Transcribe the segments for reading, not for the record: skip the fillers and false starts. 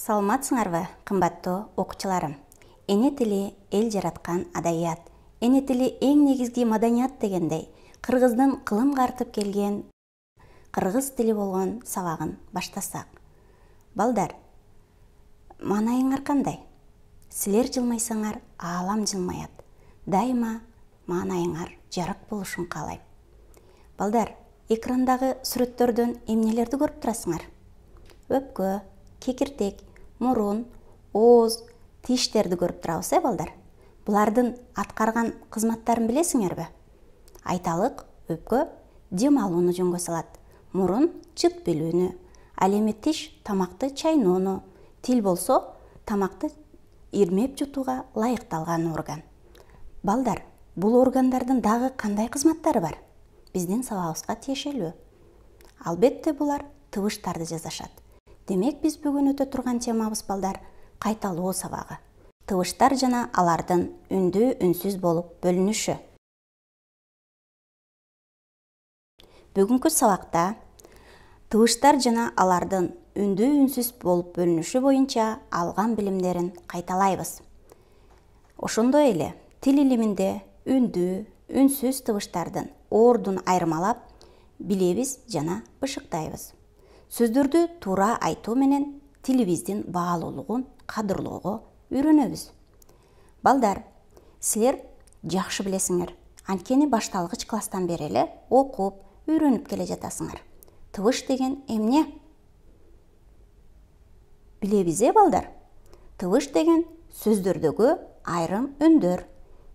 Саламатсыңарбы, кымбаттуу окуучуларым. Эне тили эл жараткан адаят. Эне тили эң негизги маданият дегендей, кыргыздын кылымга артып келген кыргыз тили болгон сабагын баштасак. Балдар, маанайыңар кандай? Силер жылмайсаңар, аалам жылмаят. Дайыма маанайыңар жарык болушун каалайм. Балдар, экрандагы сүрөттөрдөн эмнелерди көрүп турасыңар? Өпкө, кекиртек, мурун, ооз, тиштерди көрүп турабыз, балдар. Булардын аткарган кызматтарын билесиңерби? Айталык, өпкө дем алууну жөнгө салат. Мурун чыт билүүнү, ал эми тиш тамакты чайноону, тил болсо тамакты ирмеп жутууга ылайыкталган орган. Балдар, бул органдардын дагы кандай кызматтары бар? Биздин сабагыбызга тиешелүү. Албетте булар тыбыштарды жасашат. Демек биз бүгүн өтө турган темабыз, балдар, кайталоо сабагы. Тыбыштар жана алардын үндүү, үнсүз болуп бөлүнүшү. Бүгүнкү сабакта тыбыштар жана алардын үндүү, үнсүз болуп бөлүнүшү боюнча алган билимдерин кайталайбыз. Ошондой эле тил илиминде үндүү, үнсүз тыбыштардын ордун айырмалап билебиз жана бышыктайбыз. Сөздөрдү туура айтуу менен тилибиздин баалуулугун кадырлоого үйрөнөбүз. Балдар, силер жакшы билесиңер, анткени башталгыч класстан бери эле окуп, үйрөнүп келе жатасыңар. Тыбыш деген эмне? Билебиз, балдар? Тыбыш деген сөздөрдөгү айрым үндөр.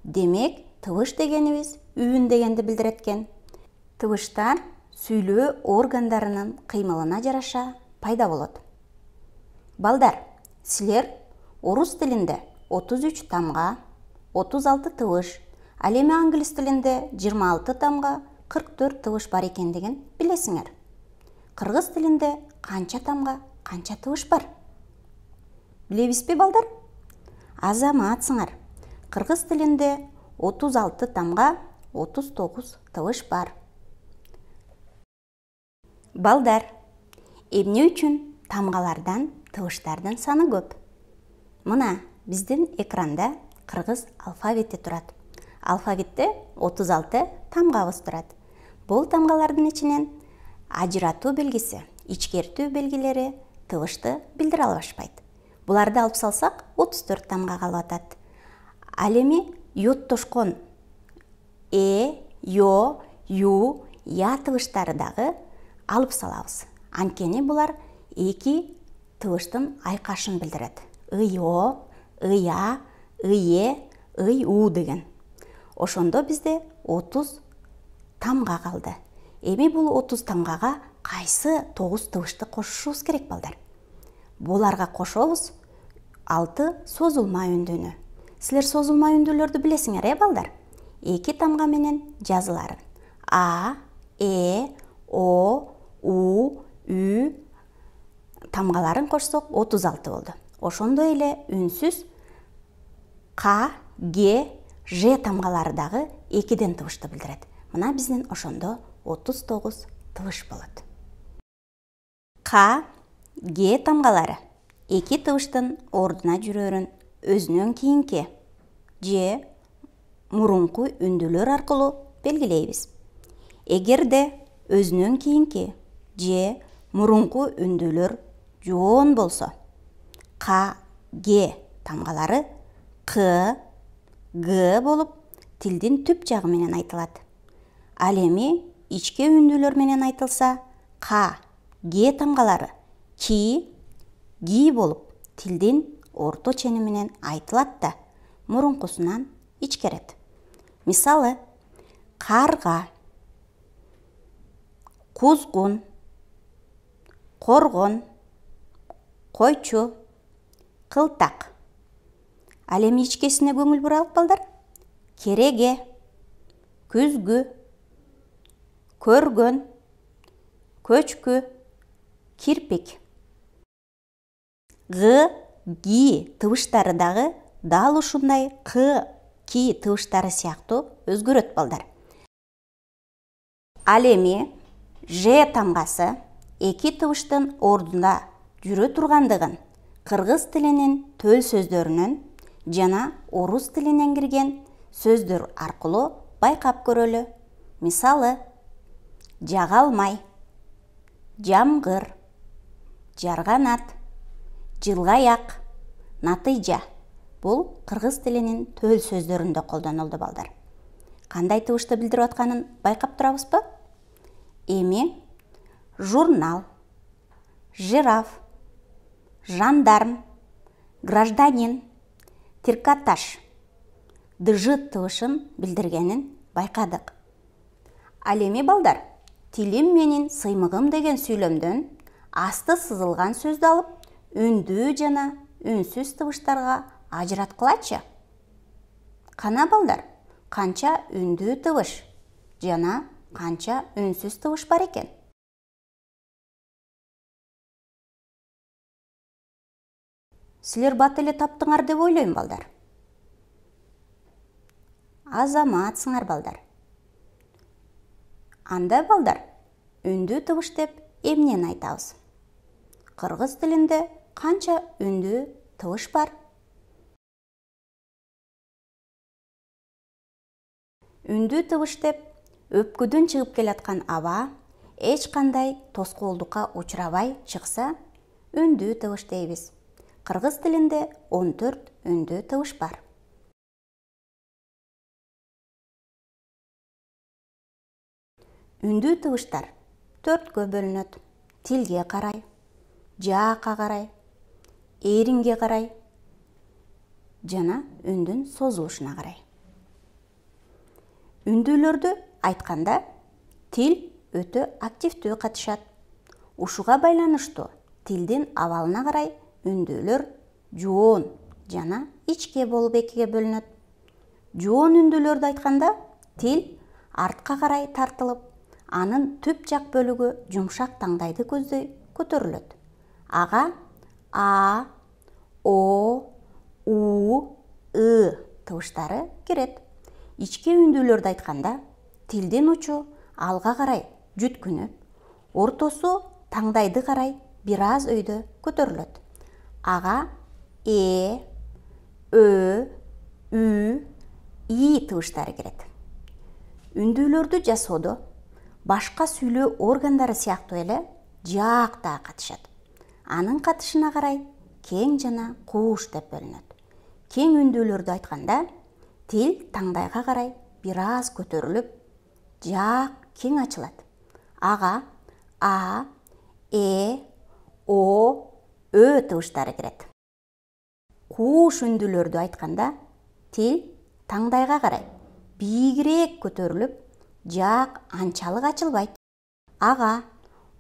Демек, тыбыш дегенибиз үн дегенди билдирет экен. Тыбыштар сүйлөө органдарынын кыймылына жараша пайда болот. Балдар, силер орус тилинде 33 тамга, 36 тыбыш, ал эми англис тилинде 26 тамга, 44 тыбыш бар экендигин билесиңер. Кыргыз тилинде канча тамга, канча тыбыш бар? Билебизби, балдар? Азаматсыңар. Кыргыз тилинде 36 тамга, 39 тыбыш бар. Балдар, эмне үчүн тамгалардан тыбыштардын саны көп? Мына биздин экранда кыргыз алфавити турат. Алфавитте 36 тамгабыз турат. Бул тамгалардын ичинен ажыратуу белгиси, ичкертүү белгилери тыбышты билдире албашпайт. Буларды алып салсак 34 тамга калып атат. Ал эми йоттошкон йо, ю, я тыбыштары дагы алып салабыз. Анткени булар эки тыбыштын айкашын билдирет. Ыйо, ыя, ые, ый-у деген. Ошондо бизде 30 тамга калды. Эми бул 30 тамгага кайсы 9 тыбышты кошушубуз керек, балдар? Буларга кошобуз 6 созулма үндүүнү. Силер созулма үндүүлөрдү билесиңер, балдар? 2 тамга менен жазыларын. А, о, у, ү тамгаларын кошсок 36 болду. Ошондой эле үнсүз К, Г, Ж тамгалары дагы 2ден тыбышты билдирет. Мына биздин ошондо 39 тыбыш болот. К, Г тамгалары 2 тыбыштын ордуна жүрөрүн өзүнөн кийинки Ж, мурунку үндүүлөр аркылуу белгилейбиз. Эгерде өзүнөн кийинки Ж, мурунку үндүүлөр жоон болсо, К, Г тамгалары К, Г болуп тилдин түп жагы менен айтылат. Ал эми ичке үндүүлөр менен айтылса, К, Г тамгалары Ки, Ги болуп тилдин орто чени менен айтылат да, мурункусунан ичкерет. Мисалы, карга, кузгун, коргон, койчу, кылтак. Ал эми ичкесине көңүл бурайлык, балдар. Кереге, күзгү, көргөн, көчкү, кирпик. Г, Ги тыбыштары дагы дал ушундай К, Ки тыбыштары сыяктуу өзгөрөт, балдар. Ал эми Ж тамгасы 2 тыбыштын ордунда жүрө тургандыгын кыргыз тилинин төл сөздөрүнөн жана орус тилинен кирген сөздөр аркылуу байкап көрөлү. Мисалы: жага алмай, жамгыр, жарганат, жылгаяк, натыйжа. Бул кыргыз тилинин төл сөздөрүндө колдонулду балдар. Кандай тыбышты билдирип атканын байкап турабызбы? Эми журнал, жираф, жандарм, гражданин, трикотаж дж тыбышын билдиргенин байкадык. Ал эми балдар, тилим менин сыймыгым деген сүйлөмдөн асты сызылган сөздү алып, үндүү жана үнсүз тыбыштарга ажыраткылачы. Кана балдар, канча үндүү тыбыш жана канча үнсүз тыбыш бар экен? Силер бат эле таптыңар деп ойлойм балдар. Азаматсыңар балдар. Анда балдар, үндүү тыбыш деп эмнени айтабыз? Кыргыз тилинде канча үндүү тыбыш бар? Үндүү тыбыш деп өпкүдөн чыгып келаткан аба эч кандай тоскоолдукка учурабай чыкса, үндүү тыбыш дейбиз. Кыргыз тилинде 14 үндүү тыбыш бар. Үндүү тыбыштар 4кө бөлүнөт. Тилге карай, жаакка карай, эринге карай жана үндүн созулушуна карай. Үндүүлөрдү айтканда тил өтө активдүү катышат. Ушуга байланыштуу тилдин абалына карай үндүүлөр жоон жана ичке болуп экиге бөлүнөт. Жоон үндүүлөрдү айтканда тил артка карай тартылып, анын түп жак бөлүгү жумшак таңдайды көздөй көтөрүлөт. Ага а, о, у, ы тыбыштары кирет. Ичке үндүүлөрдү айтканда тилдин учу алга карай жүткүнүп, ортосу таңдайды карай бир аз өйдө көтөрүлөт. Ага э, ö, ү, и тыбыштары кирет. Үндүүлөрдү жасоодо башка сүйлөө органдары сыяктуу эле жаак да катышат. Анын катышына карай кең жана кууш деп бөлүнөт. Кең үндүүлөрдү айтканда тил таңдайга карай бир аз көтөрүлүп, жаак кең ачылат. Ага а, э, о, ö тыбыштары кирет. Кууш үндүүлөрдү айтканда тил таңдайга карай бийигирээк көтөрүлүп, жаак анчалык ачылбайт. Ага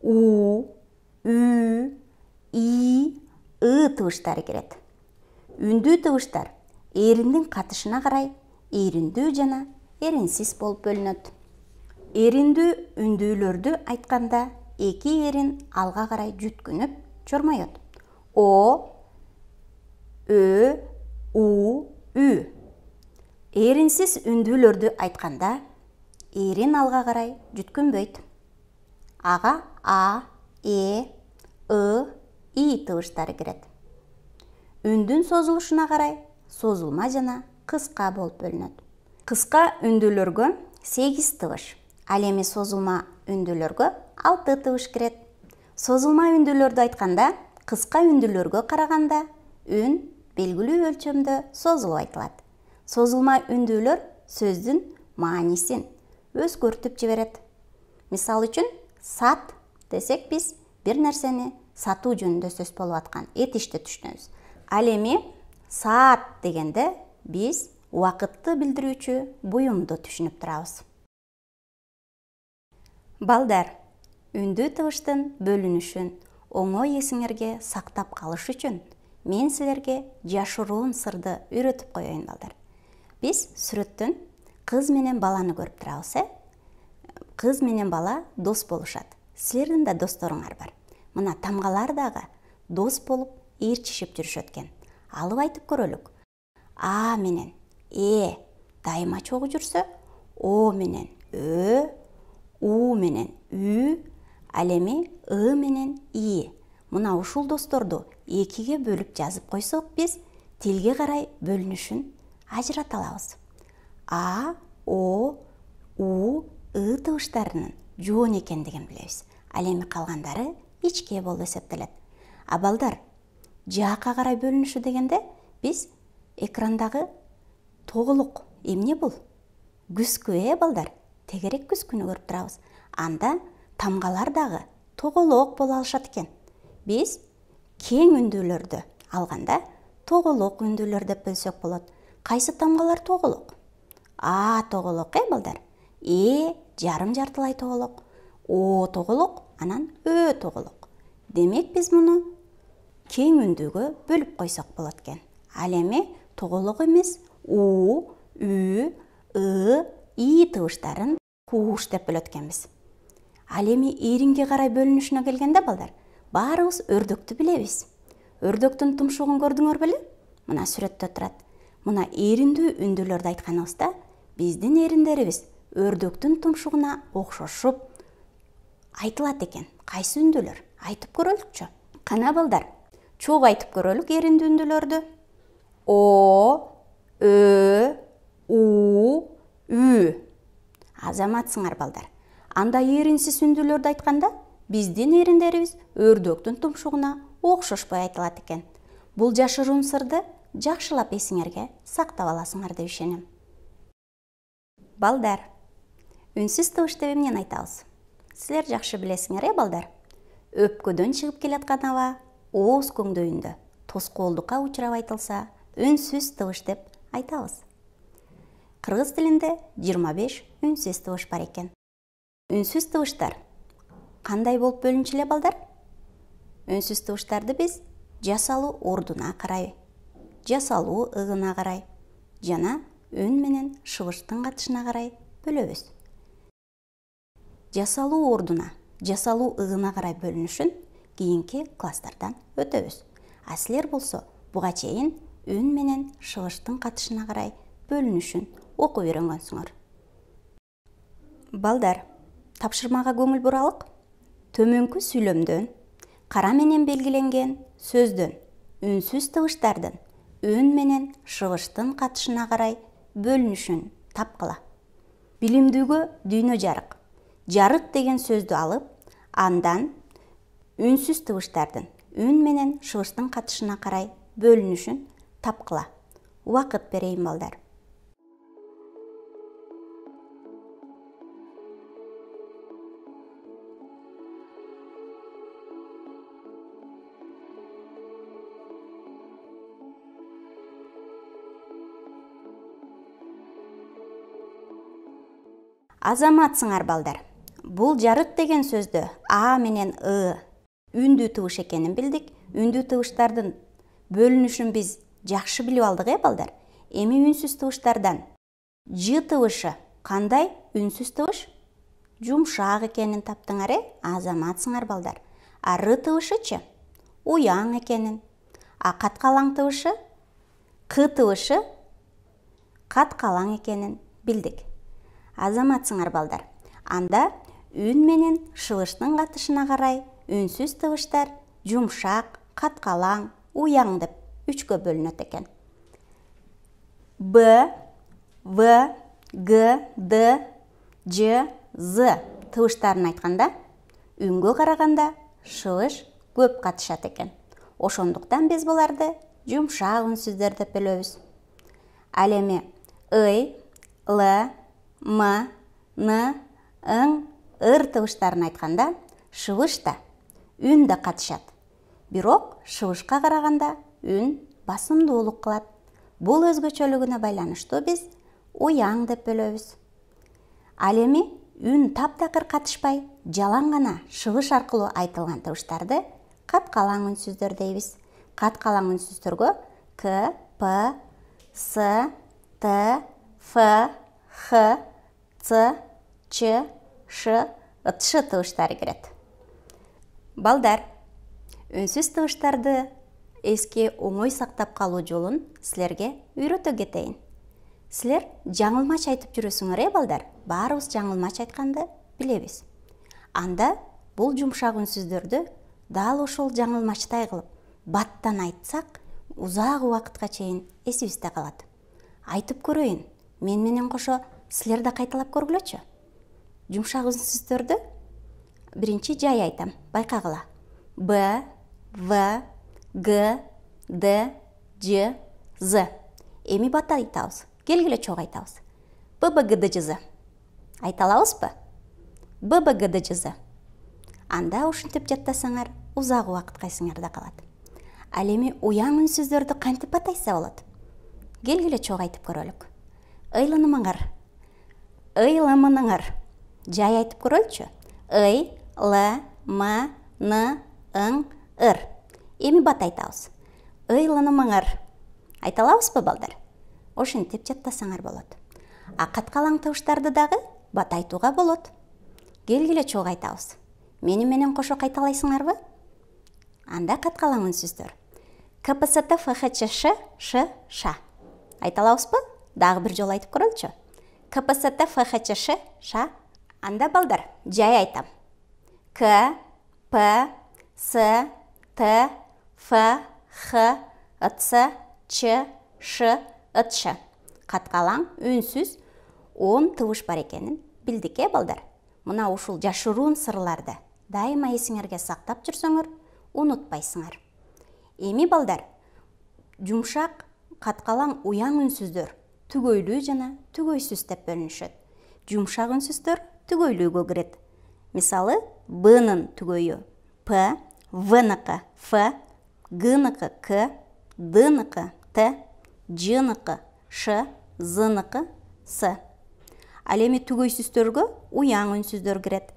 у, ү, и, ы тыбыштары кирет. Үндүү тыбыштар эриндин катышына карай эриндүү жана эринсиз болуп бөлүнөт. Эриндүү үндүүлөрдү айтканда эки эрин алга карай жүткүнүп чормойот. О, ö, у, ү. Эринсиз үндүүлөрдү айтканда эрин алга карай жүткүнбөйт. Ага а, э, ы, и тыбыштары кирет. Үндүн созулушуна карай созулма жана кыска болуп бөлүнөт. Кыска үндүүлөргө 8 тыбыш, ал эми созулма үндүүлөргө 6 тыбыш кирет. Созулма үндүүлөрдү айтканда кыска үндүүлөргө караганда үн белгилүү өлчөмдө созулуп айтылат. Созулма үндүүлөр сөздүн маанисин өзгөртүп жиберет. Мисалы үчүн, сат десек биз бир нерсени сатуу жөнүндө сөз болуп аткан этишти түшүнөбүз. Ал эми саат дегенде биз убакытты билдирүүчү буюмду түшүнүп турабыз. Балдар, үндүү тыбыштын бөлүнүшүн оңой эсиңерге сактап калыш үчүн мен силерге жашыруун сырды үйрөтүп коеюн балдар. Биз сүрөттөн кыз менен баланы көрүп турабыз, Кыз менен бала дос болушат. Силердин да досторуңар бар. Мына тамгалар дагы дос болуп ээрчишип жүрүшөт экен. Алып айтып көрөлүк. А менен э дайыма чогуу жүрсө, о менен ö, у менен ү, ал эми ы менен и мына ушул досторду экиге бөлүп жазып койсок, биз тилге карай бөлүнүшүн ажырата алабыз. А, О, У, ы табыштарынын жоон экендигин билебиз. Ал эми калгандары ичке болуп эсептелет. А балдар, жаакка карай бөлүнүшү дегенде биз экрандагы тоголок, эмне бул? Күскү, балдар? Тегерек күскүнү көрүп турабыз. Анда тамгалар дагы тоголок боло алышат экен. Биз кең үндүүлөрдү алганда тоголок үндүүлөр деп бөлсөк болот. Кайсы тамгалар тоголок? А тоголок, балдар? Жарым жартылай тоголок. О тоголок, анан Ö тоголок. Демек биз муну кең үндүүгө бөлүп койсок болот экен. Ал эми тоголок эмес, У, Ü, ы, и табыштарын кууш деп бөлөт экенбиз. Ал эми эринге карай бөлүнүшүнө келгенде, балдар, баарыбыз өрдөктү билебиз. Өрдөктүн тумшугун көрдүңөр беле? Мына сүрөттө турат. Мына эриндүү үндүүлөрдү айтканыбызда, биздин эриндерибиз өрдөктүн тумшугуна окшошуп айтылат экен. Кайсы үндүүлөр? Айтып көрөлүкчү. Кана балдар, чогуу айтып көрөлүк эриндүү үндүүлөрдү. О, Ö, У, Ü. Азаматсыңар, балдар. Анда эринсиз үндүүлөрдү айтканда, биздин эриндерибиз өрдөктүн тумшугуна окшошпой айтылат экен. Бул жашыруун сырды жакшылап эсиңерге сактап аласыңар деп ишенем. Балдар, үнсүз табыш деп эмнени айтабыз? Силер жакшы билесиңер, балдар? Өпкөдөн чыгып келаткан аба ооз көңдөйүндө тоскоолдукка учурап айтылса, үнсүз табыш деп айтабыз. Кыргыз тилинде 25 үнсүз табыш бар экен. Үнсүз табыштар кандай болуп бөлүнчү эле, балдар? Үнсүз табыштарды биз жасалуу ордуна карай, жасалуу ыгына карай жана үн менен шыбыштын катышына карай бөлөбүз. Жасалуу ордуна, жасалуу ыгына карай бөлүнүшүн кийинки класстардан өтөбүз. А силер болсо буга чейин үн менен шыбыштын катышына карай бөлүнүшүн окуп үйрөнгөнсүңөр. Балдар, тапшырмага көңүл буралык. Төмөнкү сүйлөмдөн кара менен белгиленген сөздөн үнсүз табыштардын үн менен шыбыштын катышына карай бөлүнүшүн тапкыла. Билимдүүгө дүйнө жарык. Жарык деген сөздү алып, андан үнсүз табыштардын үн менен шыбыштын катышына карай бөлүнүшүн тапкыла. Убакыт берейин, балдар. Азаматсыңар, балдар. Бул жарык деген сөздү А менен ы үндүү табыш экенин билдик. Үндүү табыштардын бөлүнүшүн биз жакшы билип алдык, балдар. Эми үнсүз табыштардан Ж табышы кандай үнсүз табыш? Жумшак экенин таптыңар, азаматсыңар, балдар. А Р табышычы уяң экенин. А каткалаң табышы К табышы каткалаң экенин билдик. Азаматсыңар, балдар. Анда үн менен шыбыштын катышына карай үнсүз табыштар жумшак, каткалаң, уяң деп үчкө бөлүнөт экен. Б, В, Г, Д, Ж, З табыштарын айтканда, үнгө караганда шыбыш көп катышат экен. Ошондуктан биз буларды жумшак үнсүздөр деп бөлөбүз. Ал эми ый, Л, М, Н, Ң, Ыр табыштарын айтканда шыбыш да, үн да катышат. Бирок шыбышка караганда үн басымдуулук кылат. Бул өзгөчөлүгүнө байланыштуу биз уяң деп бөлөбүз. Ал эми үн таптакыр катышпай, жалаң гана шыбыш аркылуу айтылган табыштарды каткалаң үнсүздөр дейбиз. Каткалаң үнсүздөргө К, П, С, Т, Ф, Х, Ц, Ч, Ш, Ш табыштары кирет. Балдар, үнсүз табыштарды эске оңой сактап калуу жолун силерге үйрөтө кетейин. Силер жаңылмач айтып жүрөсүңөр, балдар? Баарыбыз жаңылмач айтканды билебиз. Анда бул жумшак үнсүздөрдү дал ошол жаңылмачтай кылып баттан айтсак, узак убакытка чейин эсибизде калат. Айтып көрөйүн, мен менен кошо силер да кайталап көргүлөчү. Жумшак үнсүздөрдү биринчи жай айтам, байкагыла. Б, В, Г, Д, Ж, З. Эми бата айтабыз. Келгиле чогуу айтабыз. Б, Б, Г, Д, Ж, З. Айта алабызбы? Б, Б, Г, Д, Ж, З. Анда ушинтип жаттасаңар, узак убакыт кайсыңарда калат. Ал эми уяң үнсүздөрдү кантип батайса болот? Келгиле чогуу айтып көрөлүк. Ыйланымыңар. Ыйламыныңар. Жай айтып көрөлүчү. Ый, Л, М, Н, Ың, Ыр. Эми бат айтабыз. Ыйланымыңар. Айта алабызбы, балдар? Ошентип жаттасаңар болот. А каткалаң табыштарды дагы бат айтууга болот. Келгиле чогуу айтабыз. Мени менен кошо кайталайсыңарбы? Анда каткалаң үнсүздөр. КПСТ, ФХЧШ, Ш, Ша. Айта алабызбы? Дагы бир жолу айтып көрөлүчү. КПСТ, ФХЧШ, Ша. Анда балдар, жай айтам. К, П, С, Т, Ф, Х, Ц, Ч, Ш, Ш. Каткалаң үнсүз 10 тыбыш бар экенин билдик, балдар. Мына ушул жашыруун сырларды дайыма эсиңерге сактап жүрсөңөр, унутпайсыңар. Эми балдар, жумшак, каткалаң уяң үнсүздөр түгөйлүү жана түгөйсүз деп бөлүнүшөт. Жумшак үнсүздөр түгөйлүүгө кирет. Мисалы, Б-нын түгөйү П, В-ныкы Ф, Г-ныкы К, Д-ныкы Т, Ж-ныкы Ш, З-ныкы С. Ал эми түгөйсүздөргө уяң үнсүздөр кирет.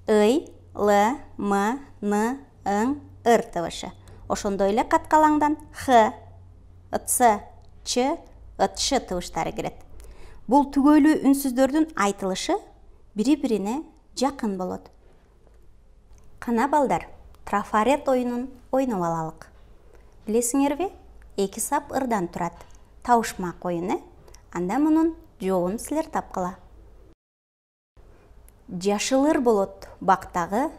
Ый, Л, М, Н, Ың, Ыр тыбышы. Ошондой эле каткалаңдан Х, Ц, Ч, Ш тыбыштары кирет. Бул түгөйлүү үнсүздөрдүн айтылышы бири-бирине жакын болот. Кана балдар, трафарет оюнун ойноп алалык. Билесиңерби? 2 сап ырдан турат. Табышмак оюн, Анда мунун жообун силер тапкыла. Жашыл ыр болот бактагы,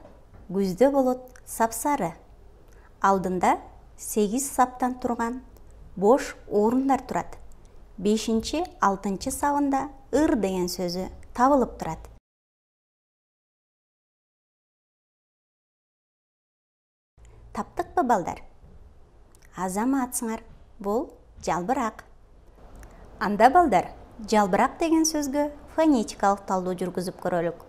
күздө болот сапсары. Алдында 8 саптан турган бош орундар турат. 5-6 сабында ыр деген сөзү табылып турат. Таптыкпы, балдар? Азаматсыңар, бул жалбырак. Анда балдар, жалбырак деген сөзгө фонетикалык талдоо жүргүзүп көрөлүк.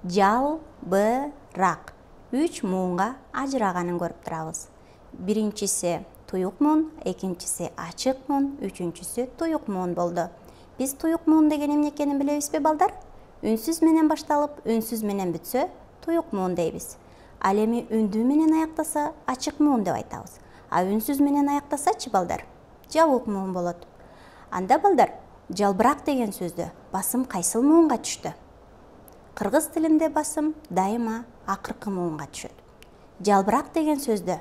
Жалбырак 3 муунга ажыраганын көрүп турабыз. Биринчиси туюк муун, экинчиси ачык муун, үчүнчүсү туюк муун болду. Биз туюк муун деген эмне экенин билебизби, балдар? Үнсүз менен башталып, үнсүз менен бүтсө, туюк муун дейбиз. Ал эми үндүү менен аяктаса, ачык муун деп айтабыз. А үнсүз менен аяктасачы, балдар? Жабык муун болот. Анда балдар, жалбырак деген сөздө басым кайсыл муунга түштү? Кыргыз тилинде басым дайыма акыркы муунга түшөт. Жалбырак деген сөздө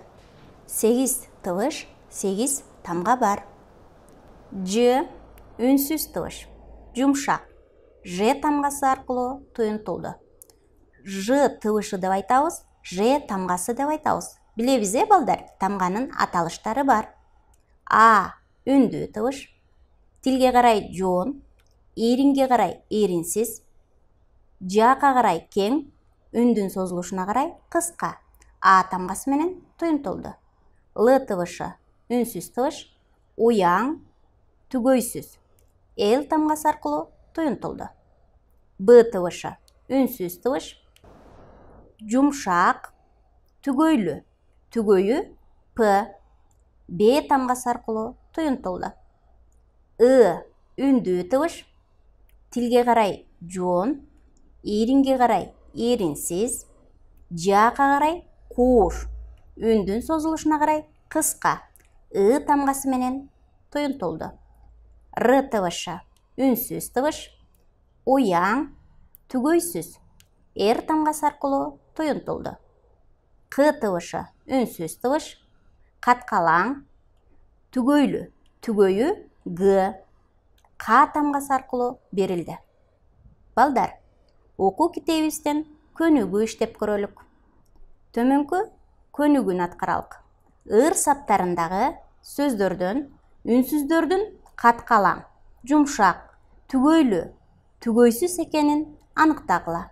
8 тыбыш, 8 тамга бар. Ж үнсүз тыбыш, жумшак. Ж тамгасы аркылуу туюнтулду. Ж тыбышы деп айтабыз, Ж тамгасы деп айтабыз. Билебиз, балдар, тамганын аталыштары бар. А үндүү тыбыш, тилге карай жоон, иринге карай иринсиз, жака карай кең, үндүн созулушуна карай кыска. А тамгасы менен туюнтулду. Л тыбышы үнсүз тыбыш, уяң, түгөйсүз. Л тамгасы аркылуу туюнтулду. Б тыбышы үнсүз тыбыш, жумшак, түгөйлүү. Түгөйү П, Б тамгасы аркылуу туюнтулду. И үндүү тыбыш, тилге карай жоон, иринге карай иринсиз, жака карай кууш, үндүн созулушуна карай кыска. И тамгасы менен туюнтулду. Р тыбышы үнсүз тыбыш, уяң, түгөйсүз. Р тамгасы аркылуу туюнтулду. К тыбышы үнсүз тыбыш, каткалаң, түгөйлүү. Түгөйү Г. К тамгасы аркылуу берилди. Балдар, окуу китебибизден көнүгүү иштеп көрөлүк. Төмөнкү көнүгүүнү аткаралык. Ыр саптарындагы сөздөрдөн үнсүздөрдүн каткалаң, жумшак, түгөйлүү, түгөйсүз экенин аныктагыла.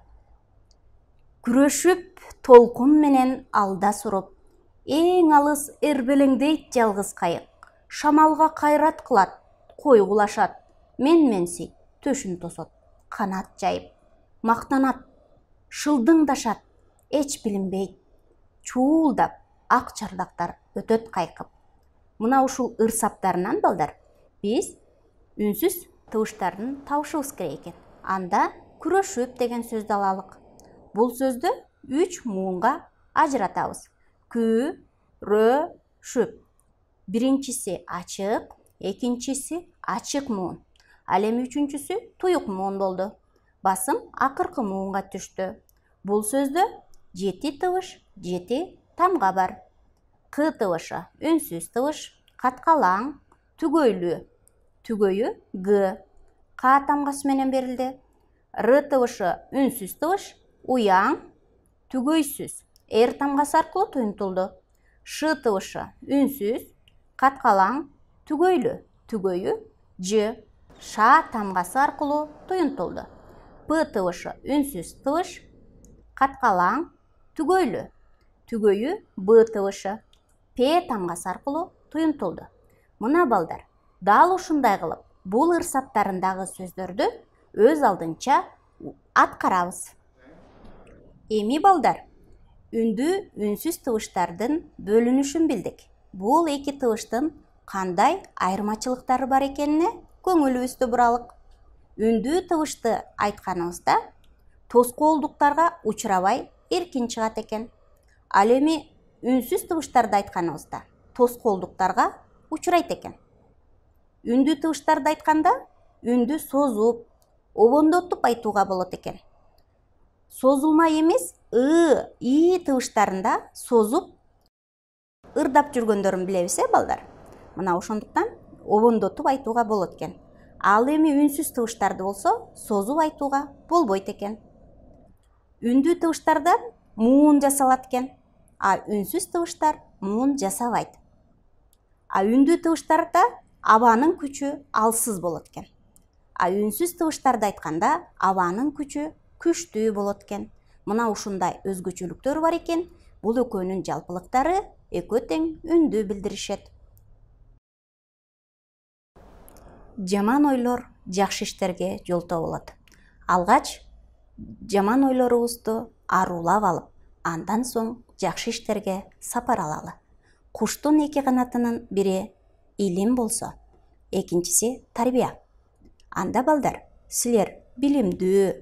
Күрөшүп толкун менен алда суруп, эң алыс эрбелеңдейт жалгыз кайык. Шамалга кайрат кылат, койгулашат, менменсийт, төшүн тосот. Канат жайып, мактанат, шылдыңдашат, эч билинбейт. Чуулдап, ак чардактар өтөт кайкып. Мына ушул ыр саптарынан балдар биз үнсүз тыбыштардын табышыбыз керек экен. Анда күрөшүп деген сөздү алалык. Бул сөздү 3 муунга ажыратабыз. Күрөшүп. Биринчиси ачык, экинчиси ачык муун. Ал эми үчүнчүсү туюк муун болду. Басым акыркы муунга түштү. Бул сөздө 7 тыбыш, 7 тамга бар. К тыбышы үнсүз тыбыш, каткалаң, түгөйлүү. Түгөйү Г. К тамгасы менен берилди. Р тыбышы үнсүз тыбыш, уяң, түгөйсүз. Р тамгасы аркылуу туюнтулду. Ш тыбышы үнсүз, каткалаң, түгөйлүү. Түгөйү Ж. Ш тамгасы аркылуу туюнтулду. П тыбышы үнсүз тыбыш, каткалаң, түгөйлүү. Түгөйү Б тыбышы. П тамгасы аркылуу туюнтулду. Мына балдар, дал ушундай кылып бул ыр саптарындагы сөздөрдү өз алдынча аткарабыз. Эми балдар, үндүү үнсүз тыбыштардын бөлүнүшүн билдик. Бул эки тыбыштын кандай айырмачылыктары бар экенине көңүлүбүздү буралык. Үндүү тыбышты айтканыбызда тоскоолдуктарга учурабай эркин чыгат экен. Ал эми үнсүз тыбыштарды айтканыбызда тоскоолдуктарга учурайт экен. Үндүү тыбыштарды айтканда үндү созуп, обондотуп айтууга болот экен. Созулма эмес и тыбыштарында созуп ырдап жүргөндөрүн билебиз, балдар. Мына ошондуктан обондотуп айтууга болот экен. Ал эми үнсүз тыбыштарды болсо созуп айтууга болбойт экен. Үндүү тыбыштардан муун жасалат экен, а үнсүз тыбыштар муун жасабайт. А үндүү тыбыштарда абанын күчү алсыз болот экен. А үнсүз тыбыштарды айтканда абанын күчү күчтүү болот экен. Мына ушундай өзгөчөлүктөр бар экен. Бул экөөнүн жалпылыктары экөө тең үндү билдиришет. Жаман ойлор жакшы иштерге жолтоо болот. Алгач жаман ойлорубузду арулап алып, андан соң жакшы иштерге сапар алалы. Куштун эки канатынын бири илим болсо, экинчиси тарбия. Анда балдар, силер билимдүү,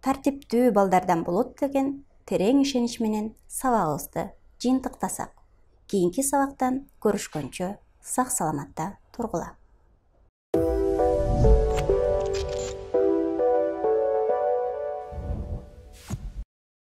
тартиптүү балдардан болот деген терең ишенич менен сабагыбызды жыйынтыктасак. Кийинки сабактан көрүшкөнчө сак саламатта тургула.